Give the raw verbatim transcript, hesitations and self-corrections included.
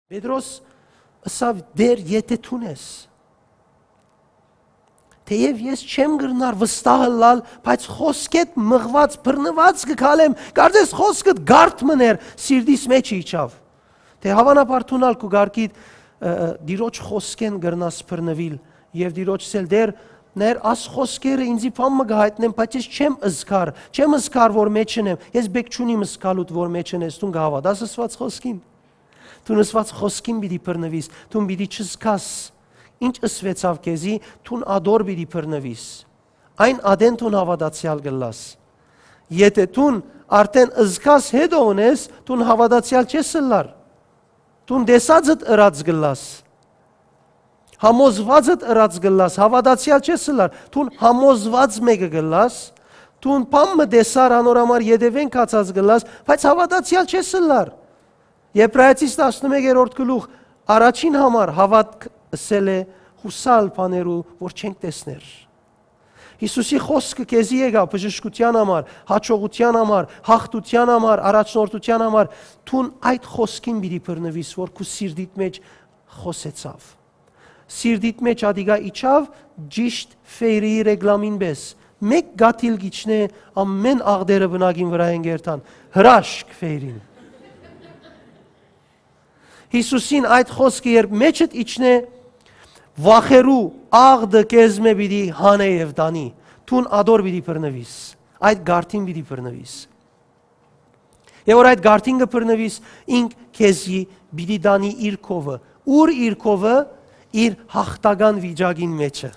Պետրոս ըսաւ. «Տէր, եթէ դուն ես, թէեւ ես չեմ կրնար վստահ ըլլալ, բայց խօսքէդ մղուած, բռնուած կը քալեմ, կարծես խօսքդ գարդ մըն էր, սիրտիս մէջը իջաւ»։ Թէ հաւանաբար դուն ալ քու կարգիդ, ը, ը, Տիրոջ խօսքէն կրնաս բռնուիլ եւ Տիրոջ ասել. «Տէր, ներ աս խօսքերը ինծի բան մը կը յայտնեն, բայց ես չեմ զգար, չեմ զգար որ մէջն եմ, ես բեք չունիմ զգալուդ որ մէջն ես, դուն կը հաւատա՞ս ըսուած խօսքին»։ Դուն ըսուած խօսքին պիտի բռնուիս, դուն պիտի չզգաս ինչ ըսուեցաւ քեզի, դուն ատոր պիտի բռնուիս։ Այն ատեն դուն հաւատացեալ կ'ըլլաս։ Եթէ դուն արդէն զգաս, հետո ունես, դուն հաւատացեալ չես ըլլար։ Դուն տեսածդ ըրած կ'ըլլաս։ Համոզուածդ ըրած կ'ըլլաս, հաւատացեալ չես ըլլար։ Դուն համոզված մէկը կ'ըլլաս, դուն բան մը տեսար, անոր համար ետեւէն գացած կ'ըլլաս, բայց հաւատացեալ չես ըլլար։ Եբրայեցիս տասնմեկերորդ գլուխ, առաջին համար հաւատք ըսել է յուսալ բաներու, որ չենք տեսներ։ Յիսուսի խօսքը քեզի եկայ բժշկութեան համար, յաջողութեան համար, յաղթութեան համար, առաջնորդութեան համար, դուն այդ խօսքին պիտի բռնուիս, որ քու սիրտիդ մէջ խօսեցաւ։ Սիրտիդ մէջ ատիկա իջաւ ճիշդ Ֆէյրիի ռեկլամին պէս։ Մէկ կաթիլ կ'իջնէ, ամէն աղտերը բնակին վրայ են կ'երթան։ Հրաշք Ֆէյրին։ Յիսուսին այդ խօսքը երբ մէջդ իջնէ, վախերու աղտը քեզմէ պիտի հանէ եւ տանի։ Դուն ատոր պիտի բռնուիս, այդ գարդին պիտի բռնուիս։ Եւ որ այդ գարդին կը բռնուիս, ինք քեզի պիտի տանի իր քովը։ Ո՞ւր իր քովը? Իր յաղթական վիճակին մէջը։